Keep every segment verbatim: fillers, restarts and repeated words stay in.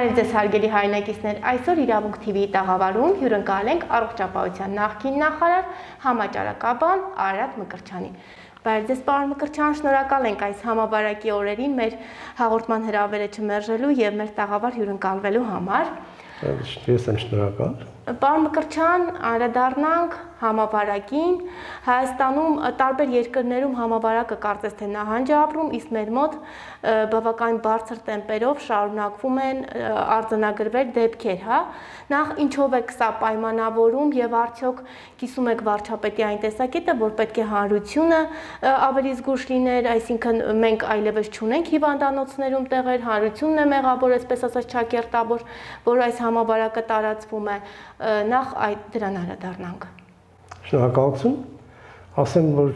Բարև ձեզ հարգելի հայրենակիցներ, այսօր Իրավունք T V-ի տաղավարում հյուրընկալ ենք առողջապահության նախկին նախարար համաճարակաբան Արարատ Մկրտչյանին։ Բարև ձեզ պարոն Մկրտչյան, շնորհակալ ենք այս համավարակի օրերին մեր հաղորդման հրավերը չմերժելու եւ մեր տաղավար հյուրընկալվելու համար։ Ես եմ շնորհակալ։ Պարոն Մկրտչյան, անդրադառնանք համավարակին։ Հայաստանում տարբեր երկրներում համավարակը կարծես թե նահանջ է ապրում, իսկ մեր մոտ բավական բարձր տեմպերով շարունակվում են արձանագրվել դեպքեր, հա։ Նախ ինչով է սա պայմանավորում եւ արդյոք կիսում եք վարչապետի այն տեսակետը, որ պետք է հանրությունը ավելի զգուշ լիներ, այսինքն մենք այլևս չունենք հիվանդանոցներում տեղեր, հանրությունն է մեղավոր, այսպես ասած ճակերտավոր, որ այս համավարակը տարածվում է, նախ այդ դրան անդրադառնանք։ Շնորհակալություն։ Ասեմ, որ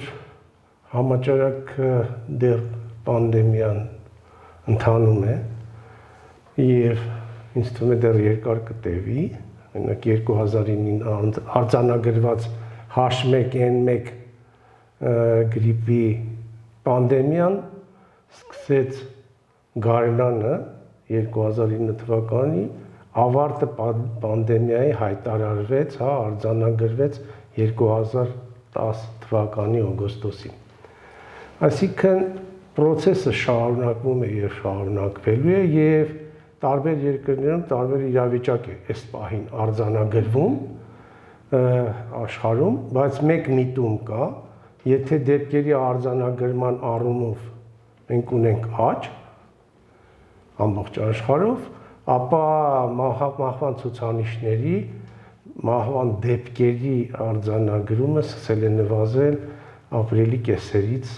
համաճարակը դեռ պանդեմիան ընթանում է եւ ինձ թվում է դեռ երկար կտևի, մենակ երկու հազար ինը արձանագրված H one N one գրիպի պանդեմիան սկսեց գարնանը երկու հազար ինը թվականի, ավարտը պանդեմիայի հայտարարվեց, հա, արձանագրվեց երկու հազար տաս թվականի օգոստոսին։ Այսինքն process-ը շարունակվում է եւ շարունակվելու է եւ տարբեր երկրներում տարբեր իրավիճակ է այս պահին արձանագրվում աշխարհում, բայց մեկ միտում կա, եթե դեպքերի արձանագրման առումով մենք ունենք աճ ամբողջ աշխարհով, ապա մահվան ցուցանիշների, մահվան դեպքերի արձանագրումը սկսել է նվազել ապրիլի կեսերից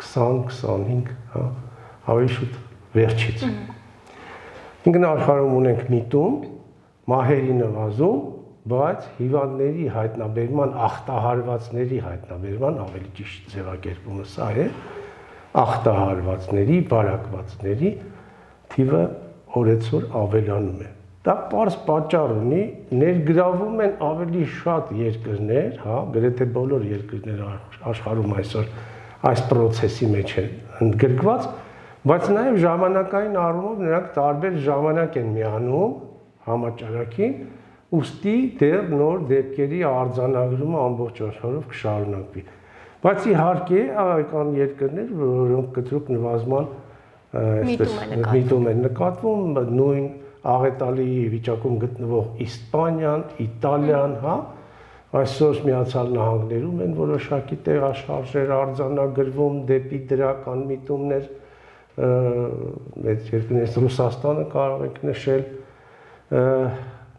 քսան քսանհինգ, հա, ավելի շուտ վերջից։ Ինքն աշխարհում ունենք միտում, մահերի նվազում, բայց հիվանդների հայտնաբերման, ախտահարվածների հայտնաբերման ավելի ճիշտ ձևակերպումը սա է, ախտահարվածների, բարակվածների թիվը օրեցօր ավելանում է։ Դա պարզ պատճառ ունի, ներգրավում են ավելի շատ երկրներ, հա, գրեթե բոլոր երկրները աշխարհում այսօր այս process-ի մեջ են ընդգրկված, բայց նաև ժամանակային առումով նրանք տարբեր ժամանակ են միանում համաճարակին, ուստի դեռ նոր դեպքերի արձանագրումը ամբողջ աշխարհով կշարունակվի։ Բայց իհարկե կան երկրներ, որոնք կտրուկ նվազման այսպես միտում են նկատվում, նույն աղետալի վիճակում գտնվող Իսպանիան, Իտալիան, հա, այսօր Միացյալ Նահանգներում են որոշակի տեղաշարժեր արձանագրվում դեպի դրական միտումներ, մեծ երկրներից Ռուսաստանը կարող ենք նշել,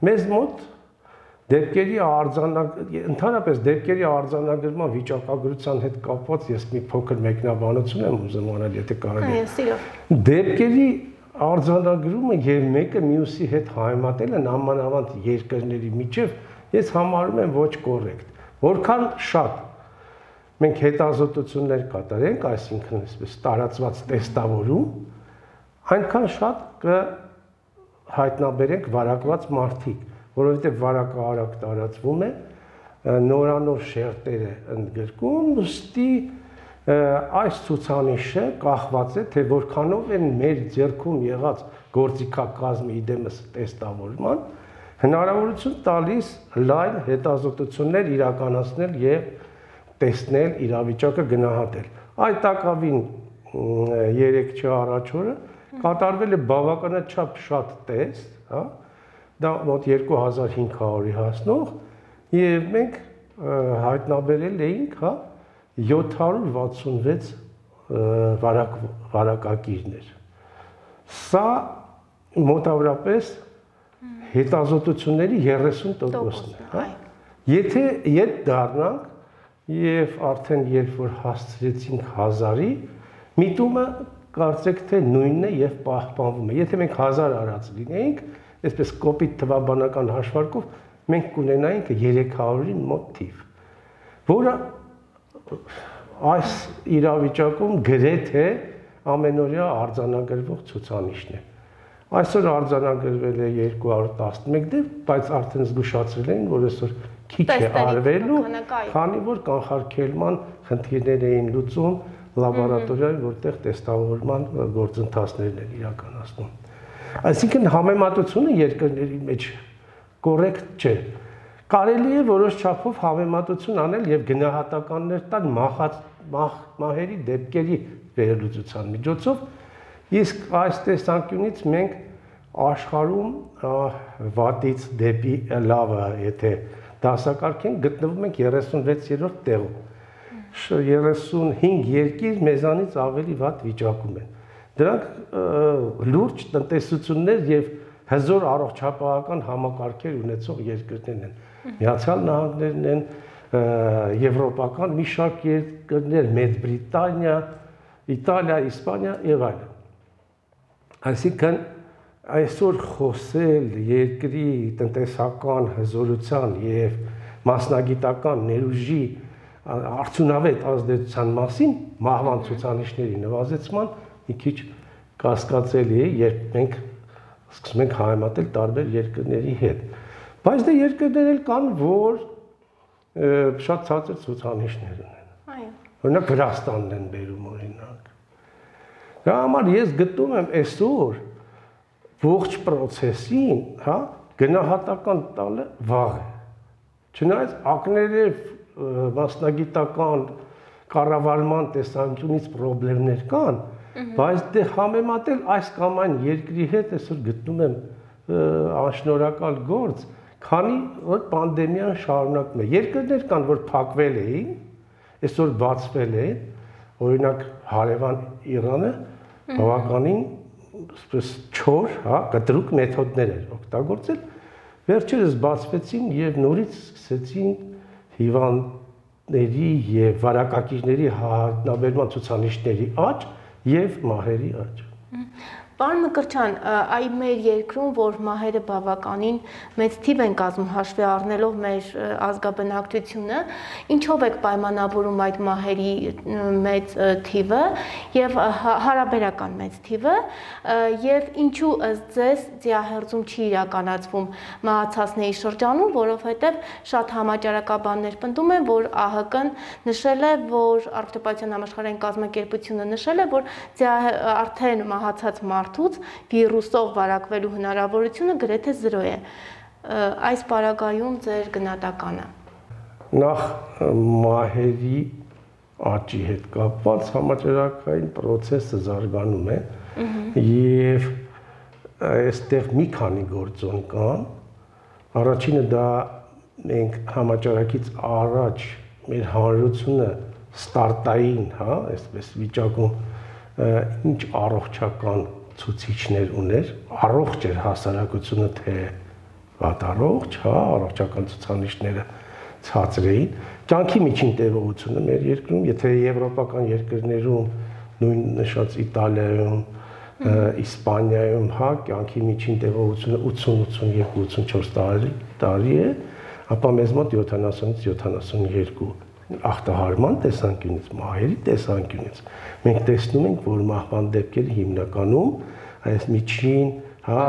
մեզ մոտ դեպքերի արձանագրման, ընդհանրապես դեպքերի արձանագրման վիճակագրության հետ կապված ես մի փոքր մեկնաբանություն եմ ուզում անել, եթե կարելի է։ Դեպքերի արձանագրումը եւ մեկը մյուսի հետ համեմատելը նամանավանդ երկրների միջև ես համարում եմ ոչ կոռեկտ։ Որքան շատ մենք հետազոտություններ կատարենք, այսինքն այսպես տարածված տեստավորում, այնքան շատ կհայտնաբերենք վարակված մարդիկ, որովհետև վարակը արագ տարածվում է, նորանոր շերտերը ընդգրկում, ուստի այս ցուցանիշը կախված է, թե որքանով են մեր ձեռքում եղած գործիքակազմի իդեմս տեստավորման հնարավորություն տալիս լայն հետազոտություններ իրականացնել եւ տեսնել իրավիճակը գնահատել։ Այդ տակավին երեք չա առաջ օրը կատարվել է բավականաչափ շատ տեստ, հա, դա մոտ երկու հազար հինգ հարյուրի հասնող եւ մենք հայտնաբերել էինք, հա, յոթ հարյուր վաթսունվեց վարակ վարակակիրներ։ Սա մոտավորապես հետազոտությունների երեսուն տոկոսն է, հա։ Եթե ետ դառնանք եւ արդեն երբ որ հասցրեցինք հազարի, միտումը կարծեք թե նույնն է եւ պահպանվում է։ Եթե մենք հազար արած լինեինք, այսպես կոպիտ թվաբանական հաշվարկով, մենք կունենայինք երեք հարյուրի մոտ թիվ, որը այս իրավիճակում գրեթե ամենօրյա արձանագրվող ցուցանիշն է։ Այսօր արձանագրվել է երկու հարյուր տասնմեկ դեպք, բայց արդեն զգուշացրել են, որ այսօր քիչ է արվելու, քանի որ կանխարգելման խնդիրներ էին լուծում լաբորատորիայում, որտեղ տեստավորման գործընթացներն են իրականացնում։ Այսինքն համեմատությունը երկրների մեջ կոռեկտ չէ։ Կարելի է որոշ չափով համեմատություն անել եւ գնահատականներ տալ մահած մահերի դեպքերի վերլուծության միջոցով, իսկ այս տեսանկյունից մենք աշխարհում վատից դեպի լավը, եթե դասակարգենք, գտնվում ենք երեսունվեցերորդ տեղում։ երեսունհինգ երկիր մեզանից ավելի վատ վիճակում են։ Դրանք լուրջ տնտեսություններ եւ հզոր առողջապահական համակարգեր ունեցող երկրներն են։ Միացյալ Նահանգներն են, եվրոպական մի շարք երկրներ, Մեծ Բրիտանիա, Իտալիա, Իսպանիա եւ այլն։ Այսինքն այսօր խոսել երկրի տնտեսական հզորության եւ մասնագիտական ներուժի արդյունավետ ազդեցության մասին մահվան ցուցանիշների նվազեցման մի քիչ կասկածելի է, երբ մենք սկսում ենք համեմատել տարբեր երկրների հետ։ Բայց դե երկրներ էլ կան, որ շատ ցածր ցուցանիշներ ունեն։ Այո։ Օրինակ Վրաստանն են բերում օրինակ։ Դրա համար ես գտնում եմ այսօր ողջ process-ին, հա, գնահատական տալը վաղ է։ Չնայած ակներև մասնագիտական կառավարման տեսանկյունից խնդիրներ կան, բայց դե համեմատել այս կամ այն երկրի հետ այսօր գտնում եմ անշնորհակալ գործ, քանի որ պանդեմիան շարունակվում է։ Երկրներ կան, որ փակվել էին, այսօր բացվել են, օրինակ հարևան Իրանը բավականին այսպես չոր, հա, կտրուկ մեթոդներ էր օգտագործել, վերջերս բացվեցին եւ նորից սկսեցին հիվանդների եւ վարակակիրների հայտնաբերման ցուցանիշների աճ եւ մահերի աճ։ Պարոն Մկրտչյան, այ մեր երկրում, որ մահերը բավականին մեծ թիվ են կազմում հաշվի առնելով մեր ազգաբնակչությունը, ինչով եք պայմանավորում այդ մահերի մեծ թիվը եւ հարաբերական մեծ թիվը եւ ինչու ըստ ձեզ դիահերձում չի իրականացվում մահացածների շրջանում, որովհետեւ շատ համաճարակաբաններ պնդում են, որ ԱՀԿ-ն նշել է, որ Առողջապահության համաշխարհային կազմակերպությունը նշել է, որ արդեն մահացած մարդուց վիրուսով վարակվելու հնարավորությունը գրեթե զրո է։ Այս պարագայում ձեր գնահատականը։ Նախ մահերի աճի հետ կապված համաճարակային process-ը զարգանում է եւ այստեղ մի քանի գործոն կան։ Առաջինը դա մենք համաճարակից առաջ մեր հանրությունը ստարտային, հա, այսպես վիճակում ինչ առողջական ցուցիչներ ուներ, առողջ էր հասարակությունը, թե վատ առողջ, հա, առողջական ցուցանիշները ցածր էին։ Կյանքի միջին տևողությունը մեր երկրում, եթե եվրոպական երկրներում, նույն նշած Իտալիայում, Իսպանիայում, հա, կյանքի միջին տևողությունը ութսուն, ութսունյոթ, ութսունչորս տարի, տարի է, ապա մեզ մոտ յոթանասունից յոթանասունյոթ ախտահարման տեսանկյունից, մահերի տեսանկյունից մենք տեսնում ենք, որ մահվան դեպքերը հիմնականում այս միջին, հա,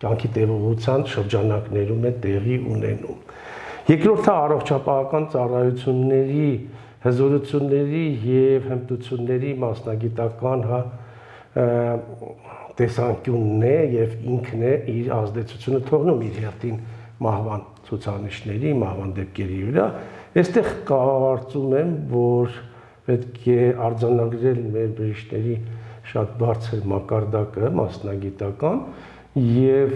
կյանքի տևողության շրջանակներում է տեղի ունենում։ Երկրորդը առողջապահական ծառայությունների, հզորությունների եւ հմտությունների մասնագիտական, հա, տեսանկյունն է եւ ինքն է իր ազդեցությունը թողնում իր հերթին մահվան ցուցանիշների, մահվան դեպքերի վրա։ Այստեղ կարծում եմ, որ պետք է արձանագրել մեր բժիշկների շատ բարձր մակարդակը մասնագիտական եւ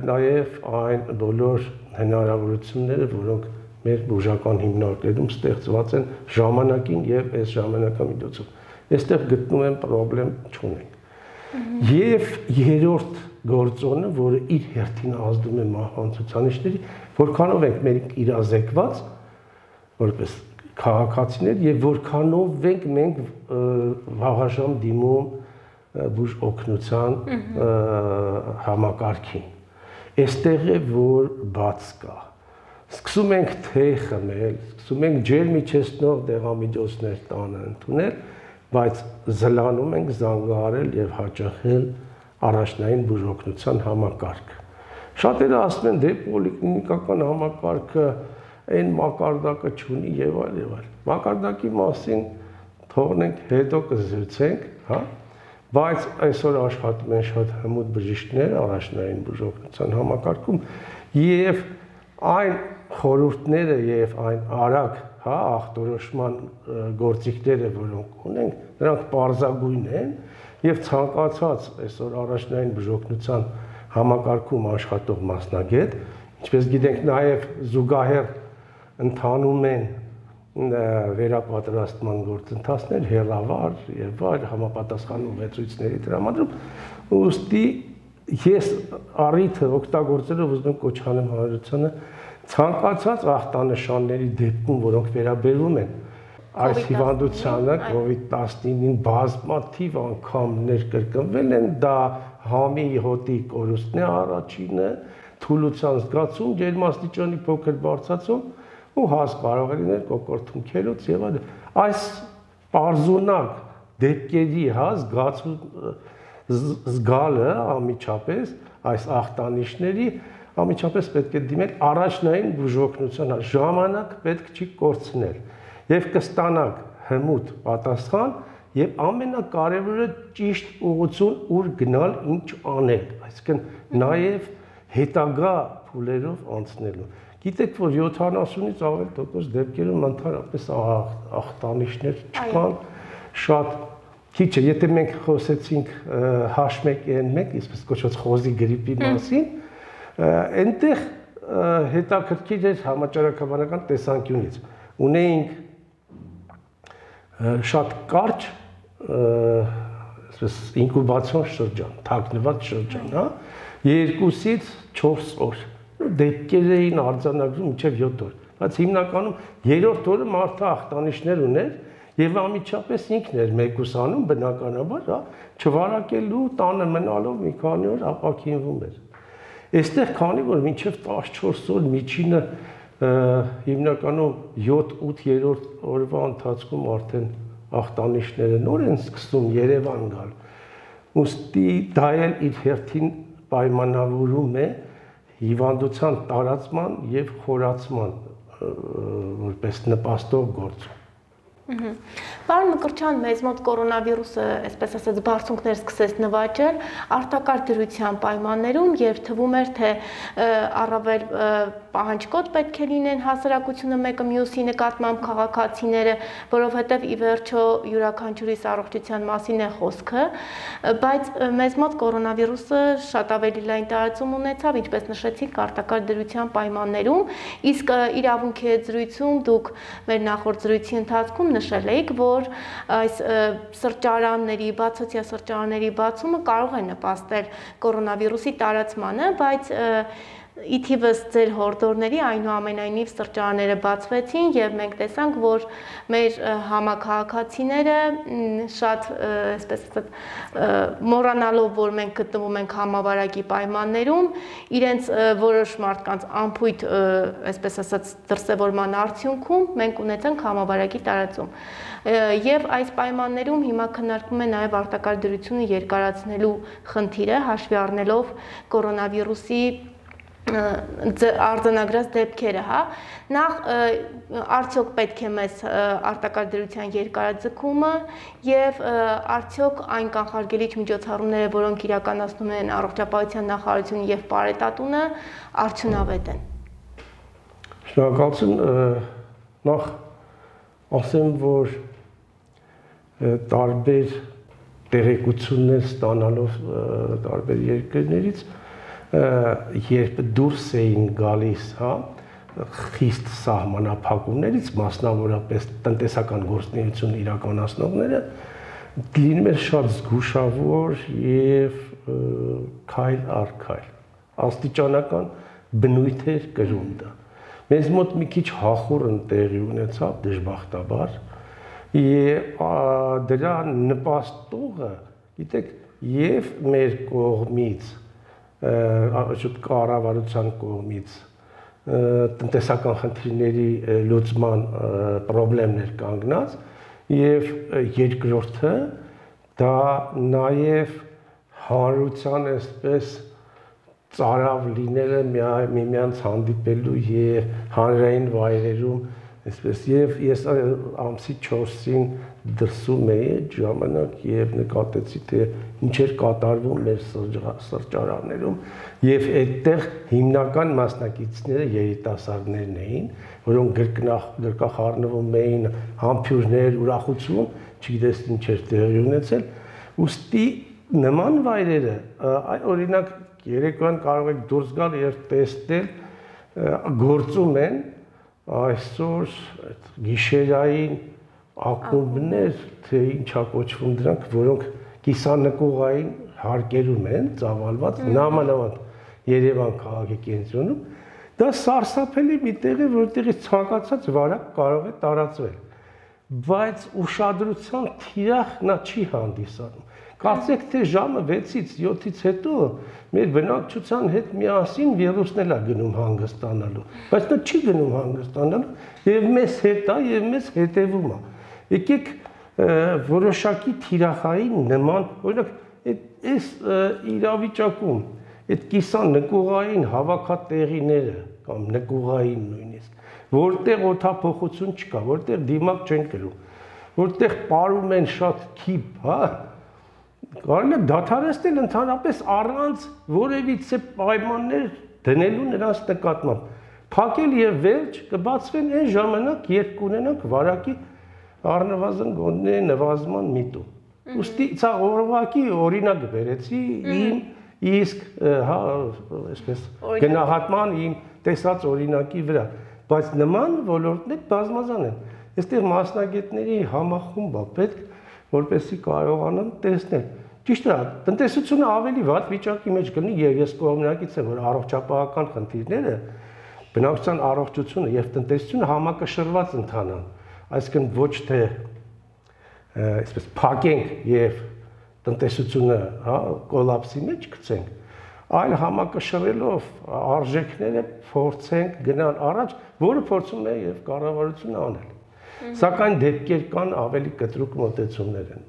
նաեւ այն բոլոր հնարավորությունները, որոնք մեր բուժական հիմնարկներում ստեղծված են ժամանակին եւ այս ժամանակամիջոցով։ Այստեղ գտնում եմ խնդրեմ չունենք։ Եվ երրորդ գործոնը, որը իր հերթին ազդում է մահվան ցուցանիշների, որքանով ենք մենք իրազեկված որպես քաղաքացիներ եւ որքանով ենք մենք վաղաժամ դիմում բուժ օգնության համակարգին։ Այստեղ է որ բաց կա։ Սկսում ենք թեյ խմել, սկսում ենք ջեր միջեցնող դեղամիջոցներ տանը ընդունել, բայց զլանում ենք զանգահարել եւ հաճախել առաջնային բուժօգնության համակարգը։ Շատերը ասում են, դե պոլիկլինիկական համակարգը այն մակարդակը չունի եւ այլ եւ այլ։ Մակարդակի մասին թողնենք հետո կզրուցենք, հա, բայց այսօր աշխատում են շատ հմուտ բժիշկներ առաջնային բուժօգնության համակարգում եւ այն խորհուրդները եւ այն արագ, հա, ախտորոշման գործիքները, որոնք ունենք, նրանք պարզագույն են եւ ցանկացած այսօր առաջնային բուժօգնության համակարգում աշխատող մասնագետ, ինչպես գիտենք, նաեւ զուգահեռ ընթանում են վերապատրաստման գործընթացներ, հեռավար եւ այլ համապատասխան ուղեցույցների տրամադրում, ուստի ես առիթը օգտագործելով ուզում եմ կոչ անեմ հանրությանը ցանկացած ախտանշանների դեպքում, որոնք վերաբերում են այս հիվանդությանը, կովիդ տասնինին բազմաթիվ անգամ ներկրկնվել են, դա համի հոտի կորուստն է առաջինը, թուլության զգացում, ջերմաստիճանի փոքր բարձրացում ու հաս կարող է լինել կոկորտում քելոց եւ այլն։ Այս պարզունակ դեպքերի հա զգացում զգալը ամիջապես այս ախտանիշների ամիջապես պետք է դիմել առաջնային բուժօգնության ժամանակ պետք չի կորցնել եւ կստանաք հմուտ պատասխան եւ ամենակարևորը ճիշտ ուղղություն ուր գնալ ինչ անել, այսինքն նաեւ հետագա փուլերով անցնելու։ Գիտեք, որ յոթանասունից ավել տոկոս դեպքերում ընդհանրապես ախտանիշներ չկան, շատ քիչ է, եթե մենք խոսեցինք H one N one, այսպես կոչված խոզի գրիպի մասին, այնտեղ հետաքրքիր էր համաճարակաբանական տեսանկյունից։ Ունեինք շատ կարճ, այսպես ինկուբացիոն շրջան, թաքնված շրջան, հա, երկուսից չորս օր դեպքեր էին արձանագրում մինչև յոթ օր, բայց հիմնականում երրորդ օրը մարդը ախտանիշներ ուներ եւ ամիջապես ինքն էր մեկուսանում բնականաբար, հա, չվարակելու, տանը մնալով մի քանի օր ապակինվում էր։ Այստեղ քանի որ մինչև տասնչորս օր միջինը հիմնականում յոթ-ութ երրորդ օրվա ընթացքում արդեն ախտանիշները նոր են սկսում Երևան գալ։ Ուստի դա էլ իր հերթին պայմանավորում է հիվանդության տարածման եւ խորացման որպես նպաստող գործ։ Պարոն Մկրտչյան, մեզ մոտ կորոնավիրուսը, այսպես ասած, բարձունքներ սկսեց նվաճել արտակարգ դրության պայմաններում եւ թվում էր, թե առավել պահանջկոտ պետք է լինեն հասարակությունը մեկը մյուսի նկատմամբ քաղաքացիները, որովհետեւ ի վերջո յուրաքանչյուրիս առողջության մասին է խոսքը, բայց մեզ մոտ կորոնավիրուսը շատ ավելի լայն տարածում ունեցավ, ինչպես նշեցիք, արտակարգ դրության պայմաններում, իսկ իրավունքի զրույցում դուք մեր նախորդ զրույցի ընթացքում նշել եք, որ այս սրճարանների, բացօթյա սրճարանների բացումը կարող է նպաստել կորոնավիրուսի տարածմանը, բայց ի թիվս ձեր հորդորների այնուամենայնիվ սրճարանները բացվեցին եւ մենք տեսանք, որ մեր համաքաղաքացիները շատ, այսպես ասած, մոռանալով, որ մենք գտնվում ենք համավարակի պայմաններում, իրենց որոշ մարդկանց անփույթ, այսպես ասած, դրսևորման արդյունքում մենք ունեցանք համավարակի տարածում։ Եվ այս պայմաններում հիմա քննարկվում է նաև արտակարգ դրությունը երկարացնելու խնդիրը, հաշվի առնելով կորոնավիրուսի արձանագրած դեպքերը, հա, նախ արդյոք պետք է մեզ արտակարգ դրության երկարաձգումը եւ արդյոք այն կանխարգելիչ միջոցառումները, որոնք իրականացնում են առողջապահության նախարարությունը եւ Պարետատունը, արդյունավետ են։ Շնորհակալություն, նախ ասեմ, որ տարբեր տեղեկություններ ստանալով տարբեր երկրներից երբ դուրս էին գալիս, հա, խիստ սահմանափակումներից, մասնավորապես տնտեսական գործունեություն իրականացնողները, լինում էր շատ զգուշավոր եւ քայլ առ քայլ, աստիճանական բնույթ էր կրում դա։ Մեզ մոտ մի քիչ հախուռն տեղի ունեցավ դժբախտաբար, եւ դրա նպաստողը, գիտեք, եւ մեր կողմից շուտ կառավարության կողմից տնտեսական խնդիրների լուծման խնդիրներ կանգնած եւ երկրորդը դա նաեւ հանրության այսպես ծարավ լինելը միմյանց հանդիպելու եւ հանրային վայրերում Այսպես եւ ես ամսի չորսին դրսում էի այդ ժամանակ եւ նկատեցի թե ինչ էր կատարվում մեր սրճարաններում եւ այդտեղ հիմնական մասնակիցները երիտասարդներն էին, որոնք գրկնախ գրկախառնվում էին, համբույրներ, ուրախություն, չգիտես ինչ էր տեղի ունեցել, ուստի նման վայրերը, օրինակ երեկոյան կարող եք դուրս գալ եւ տեսնել գործում են այսօր գիշերային ակումբներ, թե ինչա կոչվում դրանք, որոնք կիսանկողային հարկերում են ծավալված նամանավանդ Երևան քաղաքի կենտրոնում, դա սարսափելի մի տեղ է, որտեղից ցանկացած վարակ կարող է տարածվել, բայց ուշադրության թիրախ նա չի հանդիսանում։ Կարծեք թե ժամը վեցից յոթից հետո մեր բնակչության հետ միասին վիրուսն էլ է գնում հանգստանալու, բայց նա չի գնում հանգստանալու եւ մեզ հետ է եւ մեզ հետևում է։ Եկեք որոշակի թիրախային նման, օրինակ այս իրավիճակում այդ կիսան նկուղային հավաքատեղիները կամ նկուղային նույնիսկ, որտեղ օդափոխություն չկա, որտեղ դիմակ չեն կրում, որտեղ պարում են շատ քիփ, հա, կարելի է դադարեցնել ընդհանրապես առանց որևիցե պայմաններ դնելու նրանց նկատմամբ։ Փակել եւ վերջ կբացվեն այն ժամանակ, երբ կունենանք վարակի առնվազն գոնե նվազման միտում։ Ուստի ցա օրվակի օրինակ բերեցի իմ իսկ հա այսպես գնահատման իմ տեսած օրինակի վրա, բայց նման ոլորտներ բազմազան են։ Այստեղ մասնագետների համախումբ է պետք, որպեսզի կարողանան տեսնել։ Ճիշտ է, տնտեսությունը ավելի վատ վիճակի մեջ կլինի եւ ես կողմնակից եմ, որ առողջապահական խնդիրները, բնակչության առողջությունը եւ տնտեսությունը համակշռված ընթանան, այսինքն ոչ թե այսպես փակենք եւ տնտեսությունը, հա, կոլապսի մեջ գցենք, այլ համակշռելով արժեքները փորձենք գնալ առաջ, որը փորձում է եւ կառավարությունը անել։ Սակայն դեպքեր կան ավելի կտրուկ մոտեցումներ են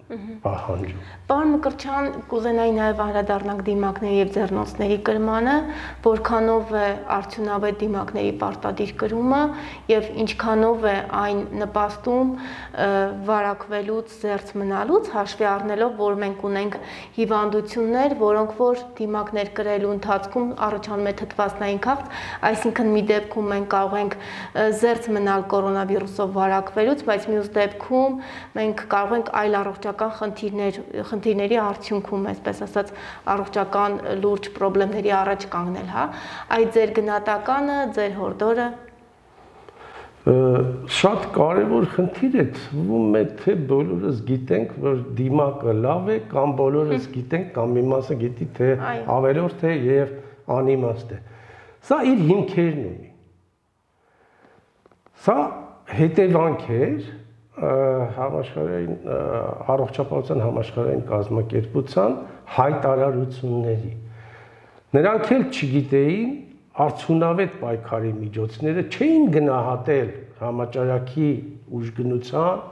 պահանջում։ Պարոն Մկրտչյան, կուզենայի նաև անդրադառնանք դիմակների եւ ձեռնոցների կրմանը, որքանով է արդյունավետ դիմակների պարտադիր կրումը եւ ինչքանով է այն նպաստում վարակվելուց զերծ մնալուց, հաշվի առնելով, որ մենք ունենք հիվանդություններ, որոնք որ դիմակներ կրելու ընթացքում առաջանում է թթվասնային քաղց, այսինքն մի դեպքում մենք կարող ենք զերծ մնալ կորոնավիրուսով վարակվել, բայց մյուս դեպքում մենք կարող ենք այլ առողջական խնդիրներ, խնդիրների արդյունքում, այսպես ասած, առողջական լուրջ խնդիրների առաջ կանգնել, հա։ Այդ ձեր գնահատականը, ձեր հորդորը։ Շատ կարևոր խնդիր է, թվում է, թե բոլորս գիտենք, որ դիմակը լավ է, կամ բոլորս գիտենք, կամ մի մասը գիտի, թե ավելորդ է եւ անիմաստ է։ Սա իր հիմքերն ունի։ Սա հետևանք էր համաշխարհային առողջապահության համաշխարհային կազմակերպության հայտարարությունների։ Նրանք էլ չգիտեին արդյունավետ պայքարի միջոցները, չէին գնահատել համաճարակի ուժգնության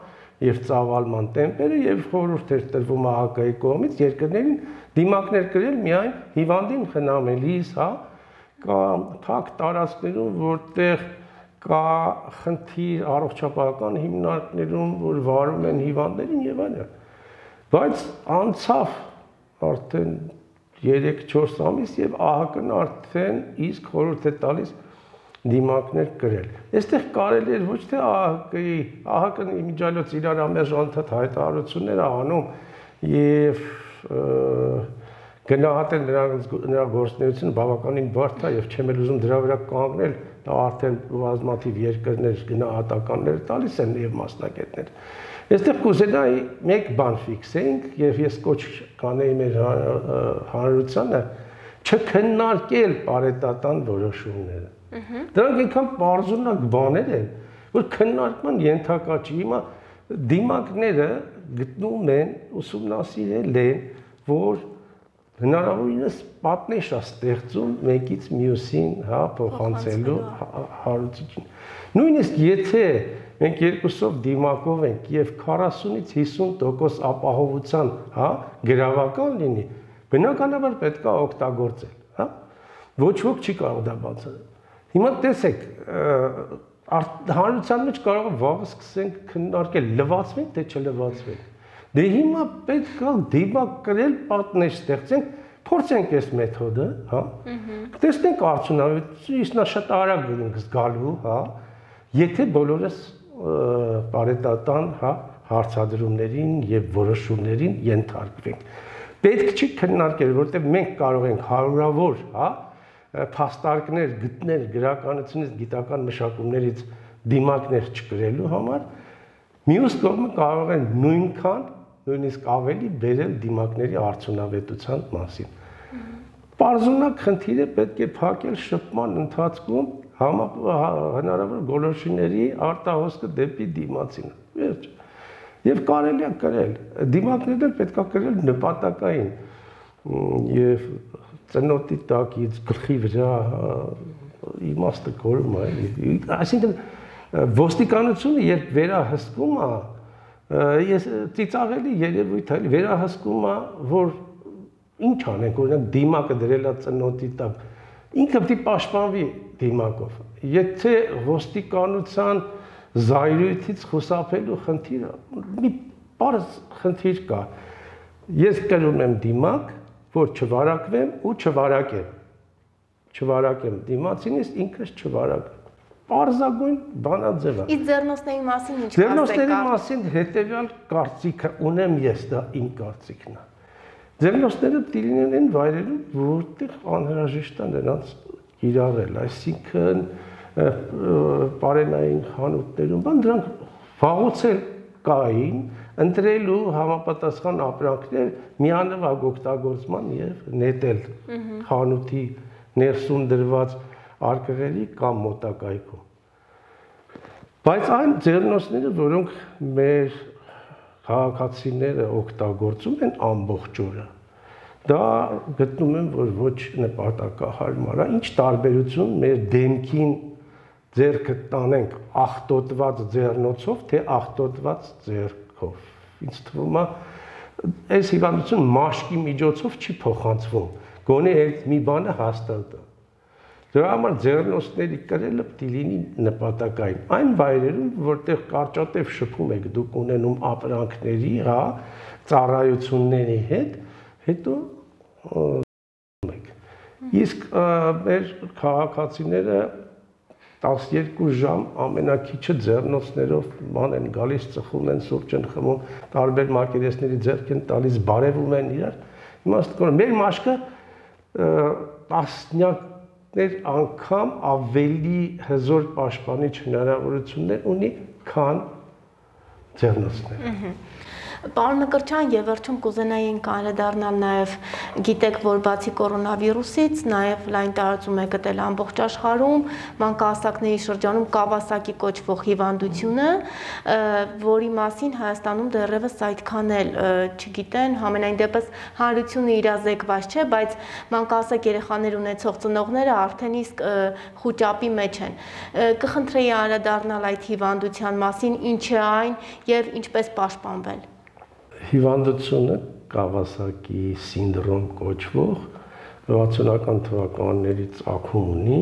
եւ ծավալման տեմպերը եւ խորհուրդ էր տրվում ԱՀԿ-ի կողմից երկրներին դիմակներ կրել միայն հիվանդին խնամելիս, հա, կամ թակ տարածքներում, որտեղ կա խնդիր առողջապահական հիմնարկներում, որ վարում են հիվանդներին եւ այլն։ Բայց անցավ արդեն երեք-չորս ամիս եւ ԱՀԿ-ն արդեն իսկ խորհուրդ է տալիս դիմակներ կրել։ Այստեղ կարելի է ոչ թե ԱՀԿ-ի, ԱՀԿ-ն իմիջիայլոց իրար ամերժ անդադ հայտարարություններ անում եւ գնահատել նրա գործունեությունը բավականին բարդ է եւ չեմ էլ ուզում դրա վրա կանգնել, դա արդեն բազմաթիվ երկրներ գնահատականներ տալիս են եւ մասնագետներ։ Այստեղ կուզենայի մեկ բան ֆիքսենք եւ ես կոչ կանեի մեր հանրությանը չքննարկել պարետատան որոշումները։ Դրանք այնքան բարձունակ բաներ են, որ քննարկման ենթակա չի։ Հիմա դիմակները գտնում են, ուսումնասիրել են, որ հնարավորինս պատնեշ է ստեղծում մեկից մյուսին, հա, փոխանցելու հարուցիչին։ Նույնիսկ եթե մենք երկուսով դիմակով ենք եւ քառասունից հիսուն տոկոս ապահովության, հա, գրավական լինի, բնականաբար պետք է օգտագործել, հա։ Ոչ ոք չի կարող դա բացատրել։ Հիմա տեսեք, հանրության մեջ կարող է վաղը սկսենք քննարկել, լվացվենք թե չլվացվենք։ Դե հիմա պետք է դիմակ կրել, պատնեշ ստեղծենք, փորձենք այս մեթոդը, հա։ Տեսնենք արդյունավետությունը, իսկ նա շատ արագ ենք զգալու, հա։ Եթե բոլորս պարետատան, հա, հարցադրումներին եւ որոշումներին ենթարկվենք։ Պետք չի քննարկել, որտեղ մենք կարող ենք հարյուրավոր, հա, փաստարկներ գտնել գրականությունից, գիտական մշակումներից դիմակներ չկրելու համար, մյուս կողմը կարող են նույնքան, նույնիսկ ավելի բերել դիմակների արդյունավետության մասին։ Պարզունակ խնդիրը պետք է փակել շփման ընթացքում հնարավոր գոլորշիների արտահոսքը դեպի դիմացին։ Վերջ։ Եվ կարելի է կրել։ Դիմակներն պետք է կրել նպատակային եւ ծնոտի տակից գլխի վրա իմաստը կորում է։ Այսինքն ոստիկանությունը երբ վերահսկում է, ես ծիծաղելի երևույթ է, վերահսկում է, որ ինչ անենք, օրինակ դիմակը դրել է ծնոտի տակ, ինքը պետք է պաշտպանվի դիմակով։ Եթե ոստիկանության զայրույթից խուսափելու խնդիրը, մի պարզ խնդիր կա։ Ես կրում եմ դիմակ, որ չվարակվեմ ու չվարակեմ։ Չվարակեմ դիմացինից, ինքս չվարակեմ։ Պարզագույն բանաձև է։ Իսկ ձեռնոցների մասին ինչ կասեք։ Ձեռնոցների մասին հետևյալ կարծիքը ունեմ ես, դա իմ կարծիքն է։ Ձեռնոցները պետք է լինեն այն վայրերում, որտեղ անհրաժեշտ է նրանց կիրառել, այսինքն պարենային խանութներում, բան դրանք վաղուց էլ կային, ընտրելու համապատասխան ապրանքներ միանվագ օգտագործման եւ նետել խանութի ներսում դրված արկղերի կամ մոտակայքում։ Բայց այն ձեռնոցները, որոնք մեր քաղաքացիները օգտագործում են ամբողջ օրը, դա գտնում եմ, որ ոչ նպատակահարմար է, ինչ տարբերություն մեր դեմքին ձեռքը տանենք աղտոտված ձեռնոցով, թե աղտոտված ձեռքով։ Ինձ թվում է, այս հիվանդությունը մաշկի միջոցով չի փոխանցվում, գոնե այդ մի բանը հաստատ է։ Դրա համար ձեռնոցների կրելը պետք է լինի նպատակային։ Այն վայրերում, որտեղ կարճատև շփում եք դուք ունենում ապրանքների, հա, ծառայությունների հետ, հետո եք։ Իսկ մեր քաղաքացիները տասներկու ժամ ամենակիչը ձեռնոցներով ման են գալիս, ծխում են, սուրճ են խմում, տարբեր մակերեսների ձեռք են տալիս, բարևում են իրար։ Իմաստը մեր մաշկը տասնյակներ անգամ ավելի հզոր պաշտպանիչ հնարավորություններ ունի, քան ձեռնոցները։ Պարոն Մկրտչյան, եւ վերջում կուզենայինք անդրադառնալ նաեւ, գիտեք, որ բացի կորոնավիրուսից, նաեւ լայն տարածում է գտել ամբողջ աշխարհում մանկահասակների շրջանում Կավասակի կոչվող հիվանդությունը, որի մասին Հայաստանում դեռևս այդքան էլ չգիտեն, համենայն դեպս հանրությունը իրազեկված չէ, բայց մանկահասակ երեխաներ ունեցող ծնողները արդեն իսկ խուճապի մեջ են։ Կխնդրեի անդրադառնալ այդ հիվանդության մասին, ինչ է այն եւ ինչպես պաշտպանվել։ Հիվանդությունը Կավասակի սինդրոմ կոչվող վաթսունական թվականներից ծագում ունի,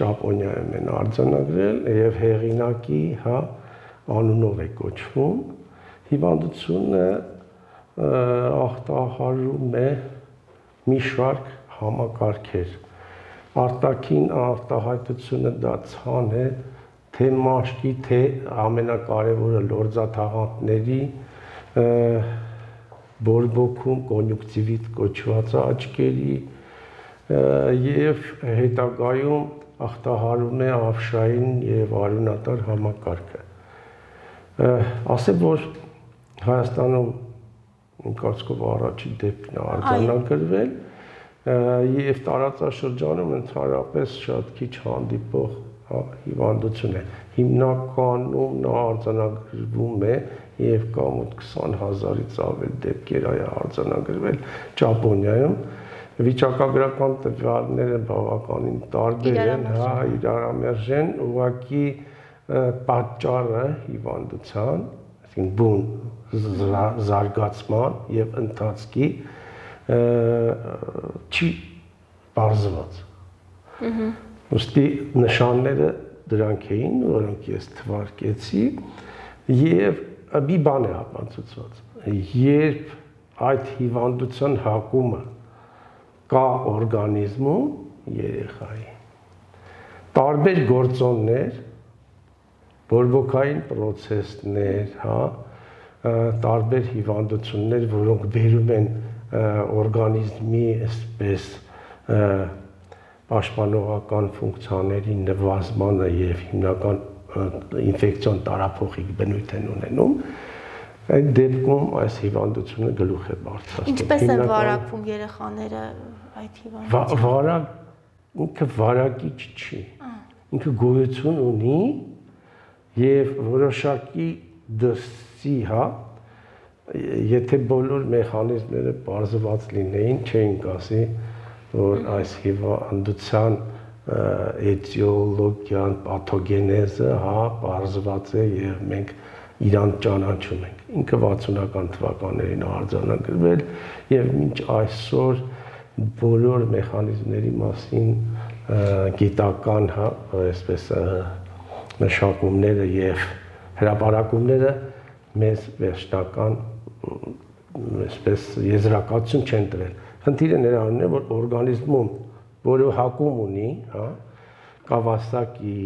Ճապոնիայում են արձանագրել եւ հեղինակի, հա, անունով է կոչվում։ Հիվանդությունը ախտահարում է մի շարք համակարգեր։ Արտաքին արտահայտությունը դա ցան է, թե մաշկի, թե ամենակարևորը լորձաթաղանթների բորբոքում կոնյուկտիվիտ կոչված աչքերի եւ հետագայում ախտահարում է ավշային եւ արյունատար համակարգը։ Ասեմ, որ Հայաստանում կարծիքով առաջին դեպքն է արձանագրվել եւ տարածաշրջանում ընդհանրապես շատ քիչ հանդիպող հիվանդություն է։ Հիմնականում նա արձանագրվում է եւ կա մոտ քսան հազարից ավել դեպքեր այ արձանագրվել Ճապոնիայում։ Վիճակագրական տվյալները բավականին տարբեր են, հա, իրարամերժ են, ուղղակի պատճառը հիվանդության, այսինքն բուն զարգացման եւ ընթացքի չի բարձված։ Ոստի նշանները դրանք էին, որոնք ես թվարկեցի, եւ մի բան է ապացուցված, երբ այդ հիվանդության հակումը կա օրգանիզմում երեխայի, տարբեր գործոններ, բորբոքային պրոցեսներ, հա, տարբեր հիվանդություններ, որոնք բերում են օրգանիզմի այսպես պաշտպանողական ֆունկցիաների նվազմանը եւ հիմնական ինֆեկցիոն տարափոխիկ բնույթ են ունենում, այդ դեպքում այս հիվանդությունը գլուխ է բարձրացնում։ Ինչպես են վարակվում երեխաները այդ հիվանդությամբ։ Վարակ ինքը վարակիչ չի։ Ինքը գոյություն ունի եւ որոշակի դրսի, հա, եթե բոլոր մեխանիզմները բարձրված լինեին, չէինք ասի, որ այս հիվանդության էտիոլոգիան, պաթոգենեզը, հա, բարձրված է եւ մենք իրան ճանաչում ենք։ Ինքը վաթսունական թվականներին արձանագրվել եւ մինչ այսօր բոլոր մեխանիզմների մասին գիտական, հա, այսպես մշակումները եւ հրապարակումները մեզ վերջնական այսպես եզրակացություն չեն տվել։ Խնդիրը նրանում է, որ օրգանիզմում, որը հակում ունի, հա, Կավասակի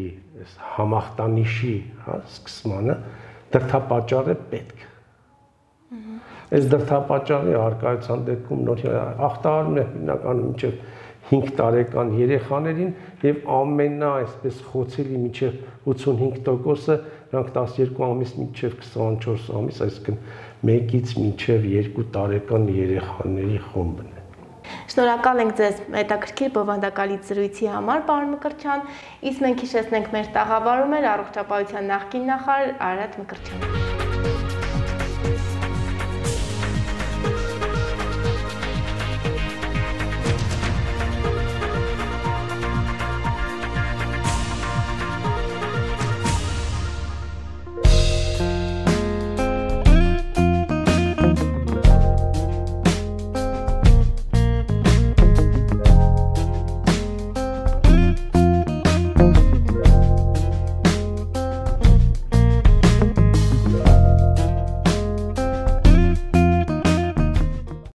համախտանիշի, հա, սկսմանը դրդապատճառ է պետք։ Այս դրդապատճառի առկայության դեպքում նոր ախտահարում է հիմնականում մինչև հինգ տարեկան երեխաներին եւ ամենա այսպես խոցելի մինչև ութսունհինգ տոկոսը նրանք տասներկու ամիս մինչև քսանչորս ամիս, այսինքն մեկից մինչև երկու տարեկան երեխաների խումբն է։ Շնորհակալ ենք ձեզ հետաքրքիր բովանդակալից զրույցի համար, պարոն Մկրտչյան, իսկ մենք հիշեցնենք մեր տաղավարում էր առողջապահության նախկին նախարար Արարատ Մկրտչյանը։